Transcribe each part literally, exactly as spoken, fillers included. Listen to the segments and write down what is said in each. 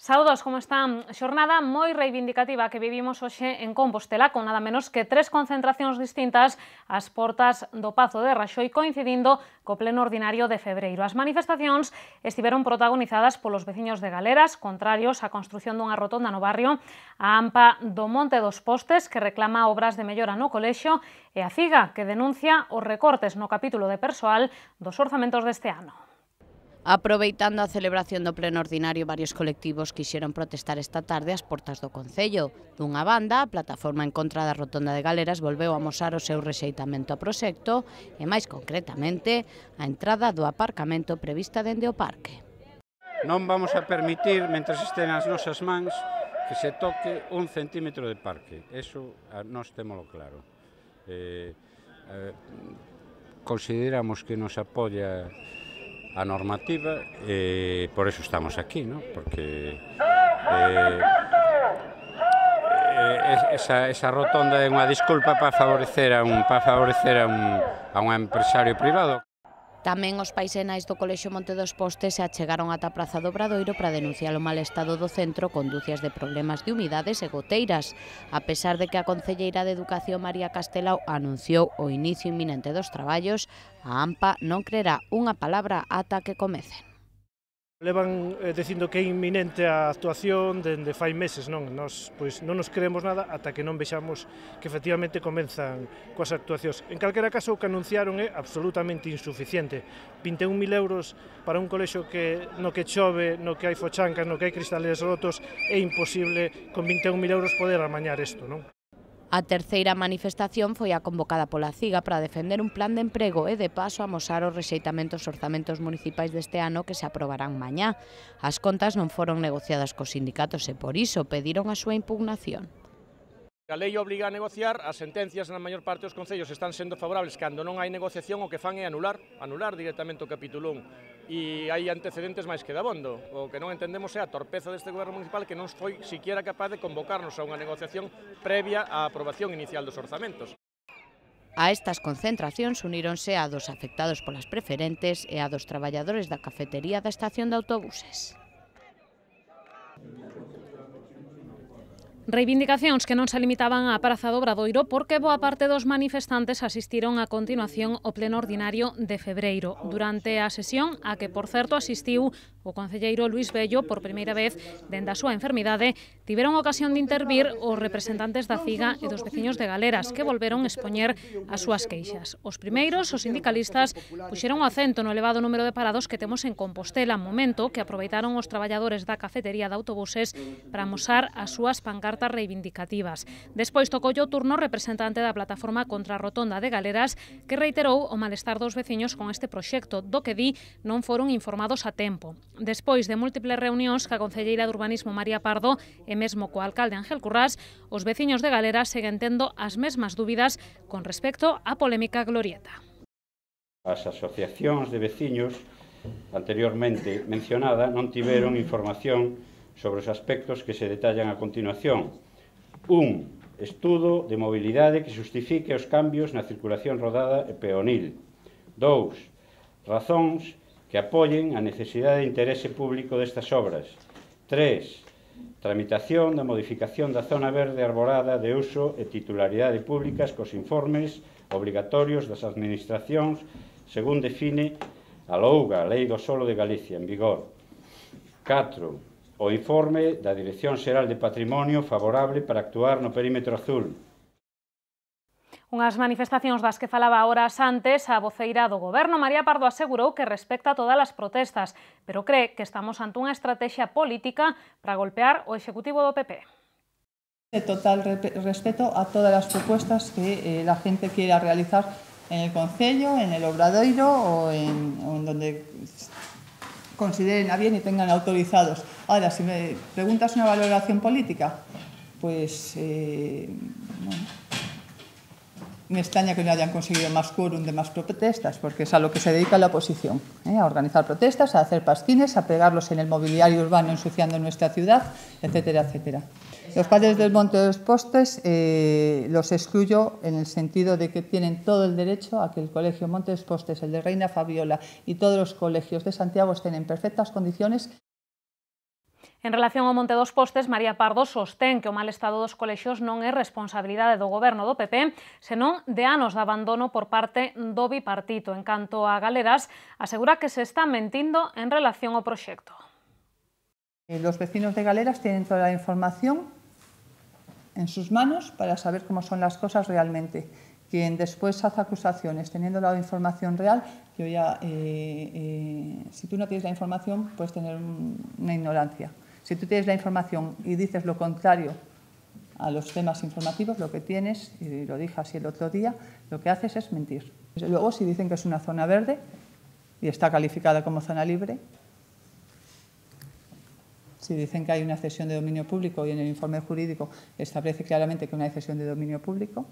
Saúdos, como están? Xornada moi reivindicativa que vivimos hoxe en Compostela con nada menos que tres concentracións distintas ás portas do Pazo de Raxoi coincidindo co pleno ordinario de febreiro. As manifestacións estiveron protagonizadas polos veciños de Galeras, contrarios á construción dunha rotonda no barrio, a AMPA do Monte dos Postes, que reclama obras de mellora no colexio, e a CIGA, que denuncia os recortes no capítulo de persoal dos orzamentos deste ano. Aproveitando a celebración do pleno ordinario, varios colectivos quixeron protestar esta tarde ás portas do Concello. Dunha banda, a plataforma en contra da rotonda de Galeras volveu a amosar o seu rexeitamento ao proxecto e, máis concretamente, a entrada do aparcamento prevista dende o parque. Non vamos a permitir, mentres estén as nosas mans, que se toque un centímetro de parque. Eso nós témolo claro. Eh, eh, consideramos que nos apoia a normativa e por eso estamos aquí, ¿no? Porque eh, esa, esa rotonda é unha disculpa para favorecer a un para favorecer a un, a un empresario privado. Tamén os paisenais do Colexio Monte dos Postes se achegaron ata a Praza do Obradoiro para denunciar o mal estado do centro con dúcias de problemas de humidades e goteiras, a pesar de que a concelleira de Educación María Castelao anunciou o inicio inminente dos traballos, a AMPA non creerá unha palabra ata que comecen. Levan eh, dicindo que é inminente a actuación dende fai meses, non? Nos, pois, non nos creemos nada ata que non vexamos que efectivamente comenzan coas actuacións. En calquera caso, o que anunciaron é absolutamente insuficiente. vinte e un mil euros para un colexio que no que chove, no que hai fochancas, no que hai cristales rotos, é imposible con vinte e un mil euros poder amañar isto, non? A terceira manifestación foi a convocada pola CIGA para defender un plan de emprego e de paso amosar os rexeitamentos orzamentos municipais deste ano que se aprobarán mañá. As contas non foron negociadas cos sindicatos e por iso pediron a súa impugnación. A lei obriga a negociar, as sentencias na maior parte dos concellos están sendo favorables cando non hai negociación, o que fan é anular, anular directamente o capítulo un. E hai antecedentes máis que dabondo. O que non entendemos é a torpeza deste goberno municipal que non foi siquiera capaz de convocarnos a unha negociación previa á aprobación inicial dos orzamentos. A estas concentracións uníronse a dos afectados polas preferentes e a dos traballadores da cafetería da estación de autobuses. Reivindicacións que non se limitaban á Praza do Obradoiro porque boa parte dos manifestantes asistiron a continuación ao pleno ordinario de febreiro. Durante a sesión, a que por certo asistiu o concelleiro Luís Bello por primeira vez dende a súa enfermidade, tiveron ocasión de intervir os representantes da CIGA e dos veciños de Galeras que volveron expoñer as súas queixas. Os primeiros, os sindicalistas, puxeron o acento no elevado número de parados que temos en Compostela, momento que aproveitaron os traballadores da cafetería de autobuses para amosar as súas pancartas reivindicativas. Despois tocoulle o turno o representante da plataforma contra a rotonda de Galeras que reiterou o malestar dos veciños con este proxecto, do que di non foron informados a tempo. Despois de múltiples reunións ca concelleira de Urbanismo María Pardo e mesmo co alcalde Ángel Currás, os veciños de Galeras seguen tendo as mesmas dúbidas con respecto á polémica glorieta. As asociacións de veciños anteriormente mencionada non tiveron información sobre os aspectos que se detallan a continuación. Un estudo de mobilidade que justifique os cambios na circulación rodada e peonil. Dous, razóns que apoien a necesidade de interese público destas obras. Tres, tramitación da modificación da zona verde arborada de uso e titularidade públicas cos informes obrigatorios das administracións según define a LOUGA, a Lei do Solo de Galicia, en vigor. Catro, o informe da Dirección Xeral de Patrimonio favorable para actuar no perímetro azul. Unhas manifestacións das que falaba horas antes, a voceira do Goberno, María Pardo, asegurou que respecta todas as protestas, pero cree que estamos ante unha estrategia política para golpear o Executivo do P P. De total respeto a todas as propuestas que eh, la gente quiera realizar en el Concello, en el Obradoiro o en, en donde consideren a bien y tengan autorizados. Ahora, si me preguntas una valoración política, pues eh, bueno, me extraña que no hayan conseguido más quórum de más protestas, porque es a lo que se dedica la oposición, ¿eh? A organizar protestas, a hacer pasquines, a pegarlos en el mobiliario urbano ensuciando nuestra ciudad, etcétera, etcétera. Los padres del Monte de los Postes eh, los excluyo en el sentido de que tienen todo el derecho a que el Colegio Monte de los Postes, el de Reina Fabiola y todos los colegios de Santiago estén en perfectas condiciones. En relación ao Monte dos Postes, María Pardo sostén que o mal estado dos colexios non é responsabilidade do goberno do P P, senón de anos de abandono por parte do bipartito. En canto a Galeras, asegura que se está mentindo en relación ao proxecto. Los vecinos de Galeras tienen toda la información en sus manos para saber cómo son las cosas realmente. Quien después hace acusaciones teniendo la información real, yo ya, eh, eh, si tú no tienes la información, puedes tener una ignorancia. Si tú tienes la información y dices lo contrario a los temas informativos, lo que tienes, y lo dije así el otro día, lo que haces es mentir. Luego, si dicen que es una zona verde y está calificada como zona libre, si dicen que hay una cesión de dominio público y en el informe jurídico establece claramente que una cesión de dominio público.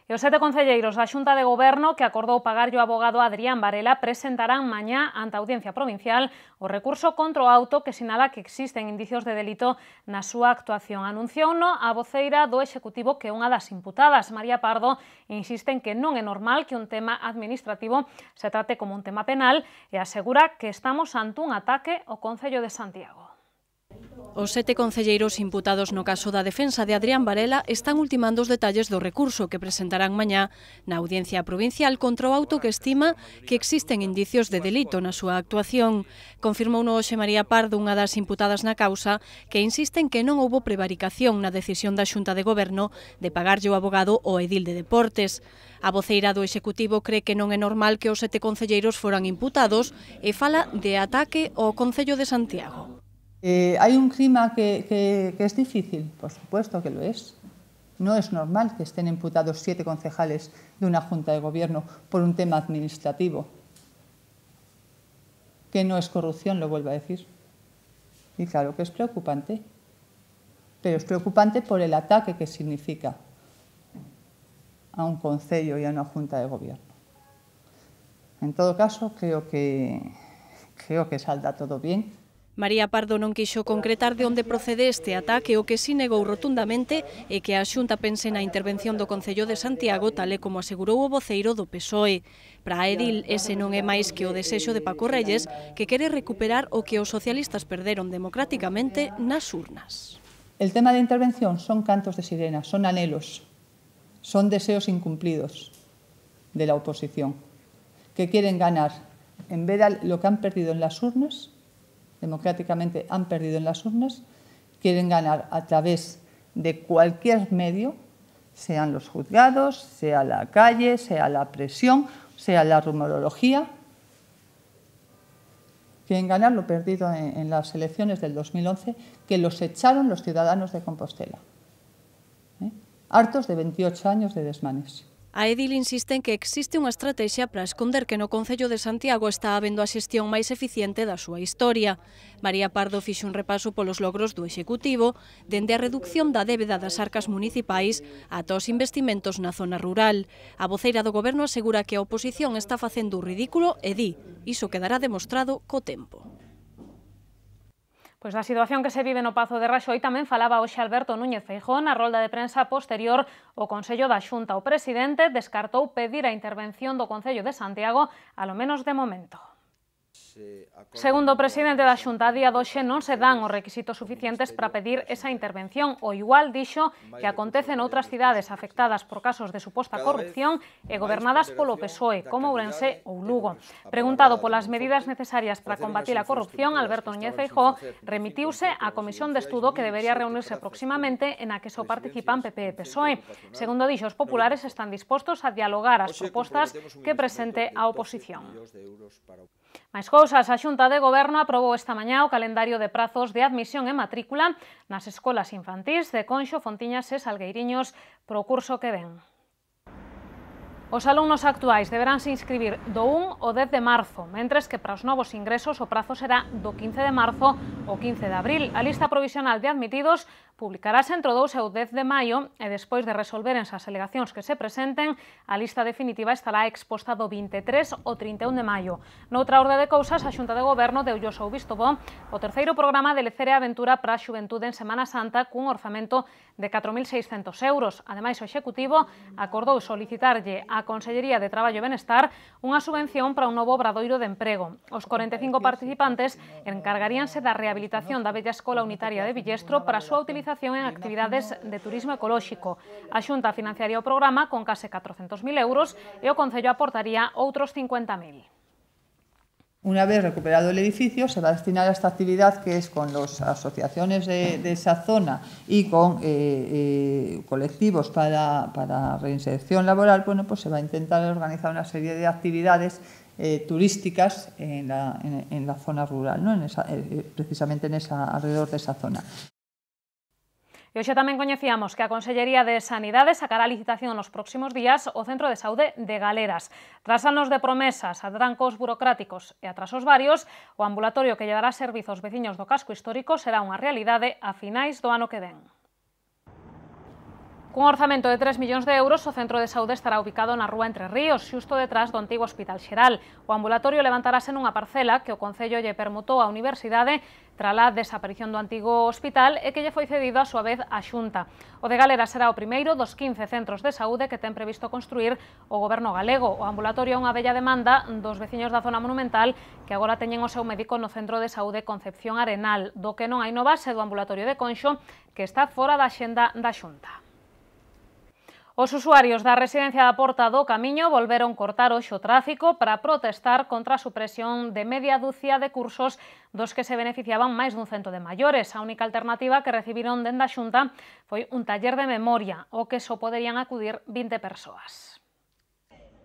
E os sete concelleiros da Xunta de Goberno que acordou pagarlle o abogado Adrián Varela presentarán mañá ante a Audiencia Provincial o recurso contra o auto que sinala que existen indicios de delito na súa actuación. Anunciouno a voceira do Executivo que é unha das imputadas, María Pardo, insiste en que non é normal que un tema administrativo se trate como un tema penal e asegura que estamos ante un ataque ao Concello de Santiago. Os sete concelleiros imputados no caso da defensa de Adrián Varela están ultimando os detalles do recurso que presentarán mañá na Audiencia Provincial contra o auto que estima que existen indicios de delito na súa actuación. Confirmouno hoxe María Pardo, unha das imputadas na causa, que insiste en que non houbo prevaricación na decisión da Xunta de Goberno de pagarlle o abogado ao edil de Deportes. A voceira do Executivo cree que non é normal que os sete concelleiros foran imputados e fala de ataque ao Concello de Santiago. Eh, ¿Hay un clima que, que, que es difícil? Por supuesto que lo es. No es normal que estén imputados siete concejales de una Junta de Gobierno por un tema administrativo. Que no es corrupción, lo vuelvo a decir. Y claro que es preocupante. Pero es preocupante por el ataque que significa a un concello y a una Junta de Gobierno. En todo caso, creo que, creo que saldrá todo bien. María Pardo non quixo concretar de onde procede este ataque, o que si negou rotundamente é que a Xunta pense na intervención do Concello de Santiago, tal e como asegurou o voceiro do P S O E. Para a edil, ese non é máis que o desexo de Paco Reyes, que quere recuperar o que os socialistas perderon democráticamente nas urnas. El tema de intervención son cantos de sirena, son anhelos, son deseos incumplidos de la oposición, que quieren ganar, en vez de lo que han perdido en las urnas, democráticamente han perdido en las urnas, quieren ganar a través de cualquier medio, sean los juzgados, sea la calle, sea la presión, sea la rumorología. Quieren ganar lo perdido en, en las elecciones del dos mil once, que los echaron los ciudadanos de Compostela, ¿eh? Hartos de veintiocho años de desmanes. A edil insiste en que existe unha estrategia para esconder que no Concello de Santiago está habendo a xestión máis eficiente da súa historia. María Pardo fixo un repaso polos logros do Executivo, dende a reducción da débeda das arcas municipais ata os investimentos na zona rural. A voceira do Goberno asegura que a oposición está facendo o ridículo e di, iso quedará demostrado co tempo. Pois da situación que se vive no Pazo de Raxoi tamén falaba hoxe Alberto Núñez Feijóo na rolda de prensa posterior ao Consello da Xunta. O presidente descartou pedir a intervención do Concello de Santiago, alo menos de momento. Segundo o presidente da Xunta, a día doxe non se dan os requisitos suficientes para pedir esa intervención. O igual dixo que acontece noutras cidades afectadas por casos de suposta corrupción e gobernadas polo P S O E, como Ourense ou Lugo. Preguntado polas medidas necesarias para combatir a corrupción, Alberto Núñez Feijóo remitiuse á comisión de estudo que debería reunirse próximamente e na que só participan P P e P S O E. Segundo dixo, os populares están dispostos a dialogar as propostas que presente a oposición. Mais cousas, a Xunta de Goberno aprobou esta mañá o calendario de prazos de admisión e matrícula nas escolas infantís de Conxo, Fontiñas e Salgueiriños pro curso que ven. Os alumnos actuais deberánse inscribir do un ao dez de marzo, mentres que para os novos ingresos o prazo será do quince de marzo ao quince de abril. A lista provisional de admitidos publicarase entre o dous e o dez de maio e despois de resolverense as alegacións que se presenten, a lista definitiva estará exposta do vinte e tres ao trinta e un de maio. Noutra orde de cousas, a Xunta de Goberno deulle o seu visto bo o terceiro programa de Lecer e Aventura para a Xuventude en Semana Santa cun orzamento de catro mil seiscentos euros. Ademais, o Executivo acordou solicitarlle á Consellería de Traballo e Benestar unha subvención para un novo obradoiro de emprego. Os corenta e cinco participantes encargaríanse da rehabilitación da bella escola unitaria de Villestro para a súa utilización en actividades de turismo ecolóxico. A Xunta financiaría o programa con case catrocentos mil euros e o Concello aportaría outros cincuenta mil. Una vez recuperado el edificio, se va a destinar a esta actividad que es con las asociaciones de, de esa zona y con eh, eh, colectivos para, para reinserción laboral. Bueno, pues se va a intentar organizar una serie de actividades eh, turísticas en la, en, en la zona rural, ¿no? En esa, eh, precisamente en esa, alrededor de esa zona. E hoxe tamén coñecíamos que a Consellería de Sanidade sacará a licitación nos próximos días o Centro de Saúde de Galeras. Tras anos de promesas, atrancos burocráticos e atrasos varios, o ambulatorio que llevará servizo aos veciños do casco histórico será unha realidade a finais do ano que ven. Cun orzamento de tres millóns de euros, o Centro de Saúde estará ubicado na rúa Entre Ríos, xusto detrás do antigo Hospital Xeral. O ambulatorio levantarase nunha parcela que o Concello lle permutou á Universidade trala desaparición do antigo hospital e que lle foi cedido a súa vez á Xunta. O de Galera será o primeiro dos quince centros de saúde que ten previsto construir o Goberno galego. O ambulatorio é unha bella demanda dos veciños da zona monumental que agora teñen o seu médico no Centro de Saúde Concepción Arenal, do que non hai no base do ambulatorio de Conxo, que está fora da axenda da Xunta. Os usuarios da residencia da Porta do Camiño volveron cortar hoxe o tráfico para protestar contra a supresión de media dúcia de cursos dos que se beneficiaban máis dun cento de maiores. A única alternativa que recibiron dende a Xunta foi un taller de memoria, ao que só poderían acudir vinte persoas.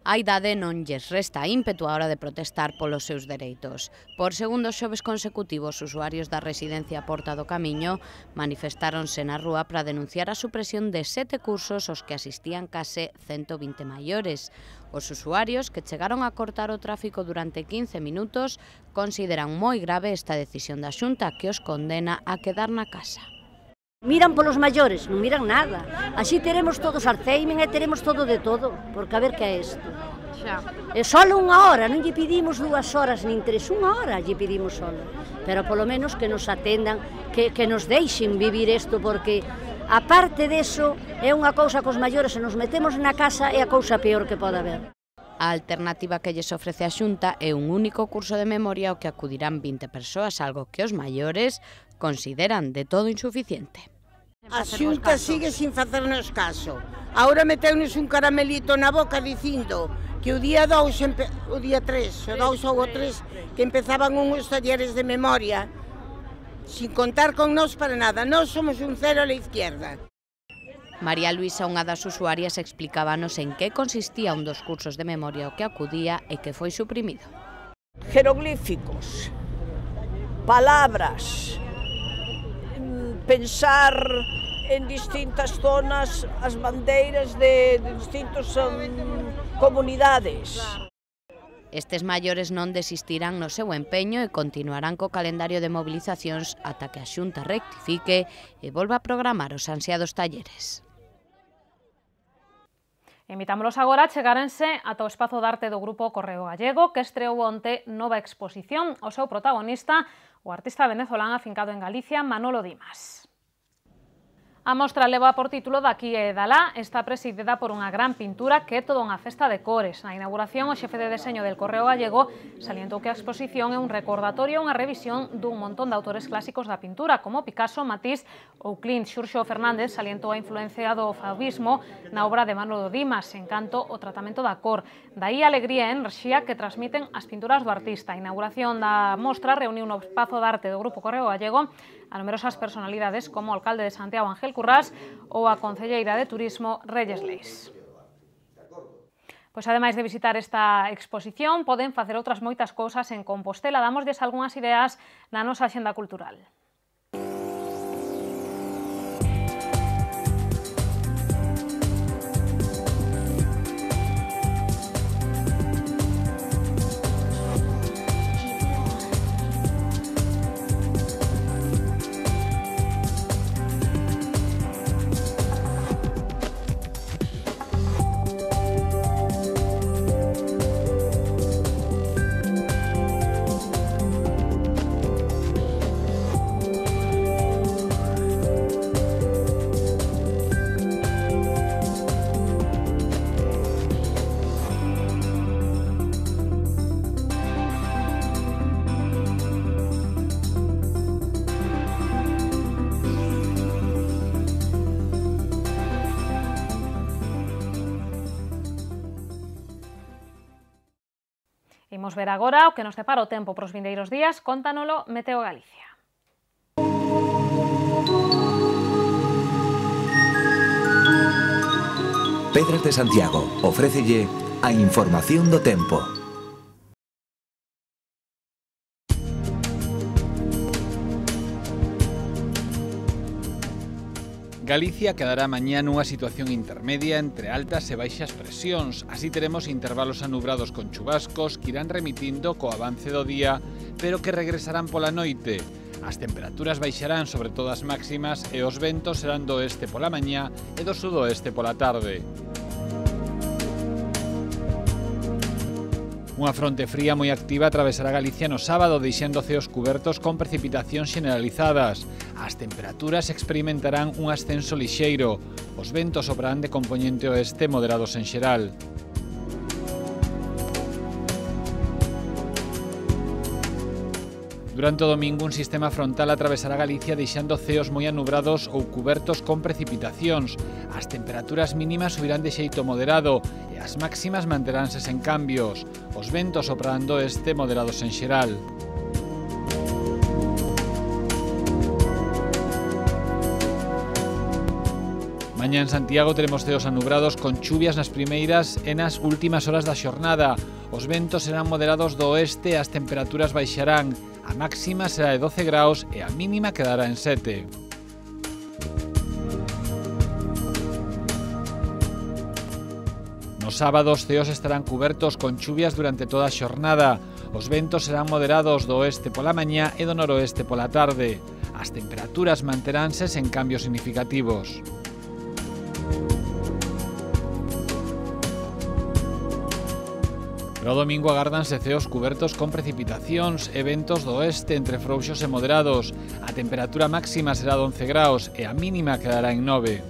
A idade non lles resta ímpetu á hora de protestar polos seus dereitos. Por segundo xoves consecutivos, usuarios da residencia Porta do Camiño manifestáronse na rúa para denunciar a supresión de sete cursos aos que asistían case cento vinte maiores. Os usuarios, que chegaron a cortar o tráfico durante quince minutos, consideran moi grave esta decisión da Xunta que os condena a quedar na casa. Miran polos maiores, non miran nada. Así teremos todos Alzheimer e teremos todo de todo, porque a ver que é isto. E só unha hora, non lle pedimos dúas horas nin tres, unha hora lle pedimos solo. Pero polo menos que nos atendan, que, que nos deixen vivir isto, porque aparte deso é unha cousa cos maiores, se nos metemos na casa é a cousa peor que pode haber. A alternativa que lles ofrece a Xunta é un único curso de memoria ao que acudirán vinte persoas, algo que os maiores consideran de todo insuficiente. A Xunta sigue sin facernos caso. Ahora meteunos un caramelito na boca dicindo que o día dous, o día tres, o dous ou o tres, que empezaban uns talleres de memoria, sin contar con nós para nada. Nós somos un cero a la izquierda. María Luisa, unha das usuarias, explicábanos en que consistía un dos cursos de memoria ao que acudía e que foi suprimido. Jeroglíficos, palabras, pensar en distintas zonas as bandeiras de, de distintas um, comunidades. Estes maiores non desistirán no seu empeño e continuarán co calendario de movilizacións ata que a Xunta rectifique e volva a programar os ansiados talleres. Invitámolos agora a chegárense ata o espazo de arte do Grupo Correo Gallego, que estreou onte nova exposición. O seu protagonista, o artista venezolán afincado en Galicia, Manolo Dimas. A mostra leva por título Daqui e Dalá, está presidida por unha gran pintura que é toda unha festa de cores. Na inauguración, o xefe de deseño del Correo Gallego salientou que a exposición é un recordatorio e unha revisión dun montón de autores clásicos da pintura, como Picasso, Matisse ou Clint. Xurxo Fernández salientou a influencia do fauvismo na obra de Manolo Dimas, Encanto, o tratamento da cor. Daí a alegría e enerxía que transmiten as pinturas do artista. A inauguración da mostra reuniu no espazo de arte do Grupo Correo Gallego a numerosas personalidades como o alcalde de Santiago, Ángel Currás, ou a concelleira de Turismo, Reyes Leis. Pois ademais de visitar esta exposición, poden facer outras moitas cousas en Compostela. Damosles algunhas ideas na nosa axenda cultural. Imos ver agora o que nos depara o tempo pros vindeiros días, cóntanolo Meteo Galicia. Pedras de Santiago ofrécelle a información do tempo. Galicia quedará mañá nunha situación intermedia entre altas e baixas presións. Así teremos intervalos anubrados con chubascos que irán remitindo co avance do día, pero que regresarán pola noite. As temperaturas baixarán sobre todo as máximas e os ventos serán do oeste pola mañá e do sudoeste pola tarde. Unha fronte fría moi activa atravesará Galicia no sábado, deixando ceos cubertos con precipitacións xeneralizadas. As temperaturas experimentarán un ascenso lixeiro. Os ventos soprarán de compoñente oeste moderados en xeral. Durante o domingo, un sistema frontal atravesará Galicia deixando ceos moi anubrados ou cubertos con precipitacións. As temperaturas mínimas subirán de xeito moderado e as máximas manteránse sen cambios. Os ventos soprarán do oeste moderados en xeral. Mañá en Santiago teremos ceos anubrados con chuvias nas primeiras e nas últimas horas da xornada. Os ventos serán moderados do oeste e as temperaturas baixarán. A máxima será de doce graus e a mínima quedará en sete. Nos sábados, ceos estarán cubertos con chuvias durante toda a xornada. Os ventos serán moderados do oeste pola mañá e do noroeste pola tarde. As temperaturas manteránse sen cambios significativos. Pero o domingo agárdanse ceos cubertos con precipitacións e ventos do oeste entre frouxos e moderados. A temperatura máxima será de once graus e a mínima quedará en nove.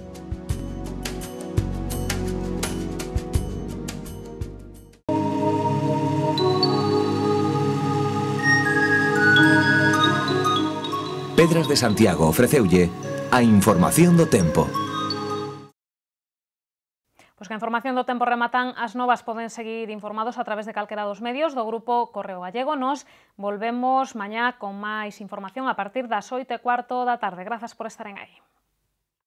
Pedras de Santiago ofreceulle a información do tempo. Pois que a información do tempo rematan as novas, poden seguir informados a través de calquera dos medios do Grupo Correo Gallego. Nos volvemos mañá con máis información a partir das oito e cuarto da tarde. Grazas por estaren aí.